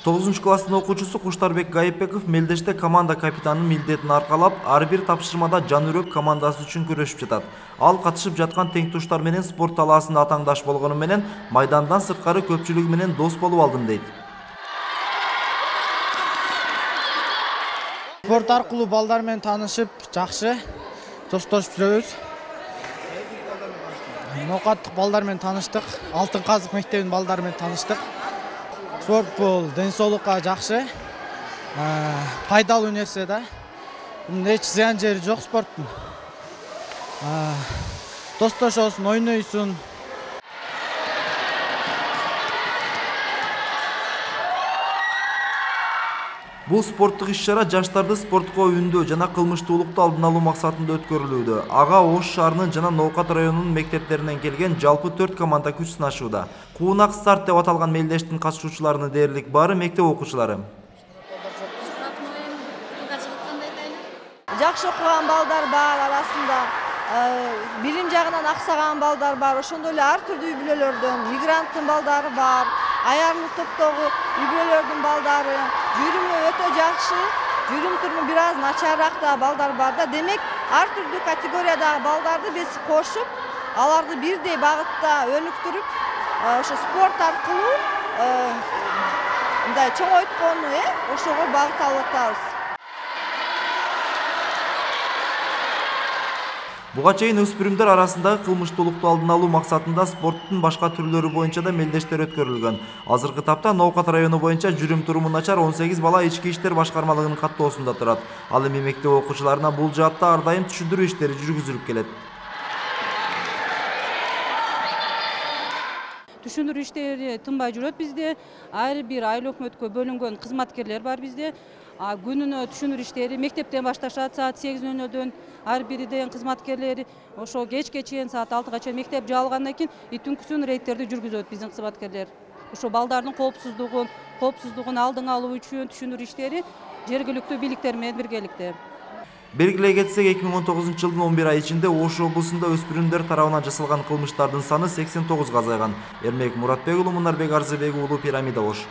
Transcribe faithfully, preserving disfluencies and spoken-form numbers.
тогузунчу класстын окуучусу Куштарбек Гайыпбеков Мелдеште команда капитанынын милдетин аркалап, ар бир тапшырмада жан үрөк командасы үчүн күрөшүп жатат. Ал катышып жаткан тең туштар менен спорт талаасында атаңдаш болгону менен майдандан сырткары көпчүлүгү менен дос болуп алдым дейт. Спорт аркылуу балдар менен таанышып, жакшы достошуп жүрөбүз. Ноокаттык балдар менен таныштык, Алтын Казык мектебинин балдары менен таныштык. Спорт бул ден соолукка жакшы, пайдалуу нерсе да. Эч зыян жери жок спорттун. Достошосуң, ойнойсуң. Бул спорттук иш-чара жаштарды спортко үндөө жана кылмыштуулукту алдын алуу максатында өткөрүлүүдө. Ага Ош шаарынын жана Ноокат районунун мектептеринен келген жалпы төрт команда күч сынашууда. Куунак старт деп аталган мелдештин катышуучуларынын дээрлик баары мектеп окуучулары. Жакшы окуган балдар бар арасында, билим жагынан аксаган балдар бар, ошондой эле ар түрдүү үй бүлөлөрдөн мигранттын балдары бар, аярмы топтогу үй бүлөлөрдүн балдары, жүрүмү өтө жакшы, жүрүм туруму бир аз начарыраак да балдар бар да. Демек, ар түрдүү категориядагы балдарды биз кошуп, аларды бирдей багытта өнүктүрүп, ошо спорт аркылуу мындай чоңойткону, э, ошого багыт алып атабыз. Буга чейин өспүрүмдөр арасындагы кылмыштуулукту алдын алуу максатында спорттун башка түрлөрү боюнча да мелдештер өткөрүлгөн. Азыркы тапта Ноокат району боюнча жүрүм туруму начар он сегиз бала ички иштер башкармалыгынын каттоосунда турат. Ал эми мектеп окуучуларына бул жаатта ар дайым түшүндүрүү иштери жүргүзүлүп келет. Түшүндүрүү иштери тынбай жүрөт бизде. Ар бир айыл өкмөткө бөлүнгөн кызматкерлер бар бизде. Күнүнө түшүндүрүү иштери мектептен башташат саат сегиз нөл нөлдөн. Ар бириден кызматкерлери ошо кечке чейин саат алтыга чейин мектеп жабылгандан кийин түнкүсүн рейдтерди жүргүзөт биздин кызматкерлер. Ошо балдардын коопсуздугун, коопсуздугун алдын алуу үчүн түшүндүрүү иштери жергиликтүү бийликтер менен биргеликте. Белгилей кетсек, эки миң он тогузунчу жылдын он бир ай ичинде Ош облусунда өспүрүмдөр тарабынан жасалган кылмыштардын саны сексен тогузга азайган. Эрмек Муратбек уулу, Мунарбек Арзыбек уулу, Пирамида, Ош.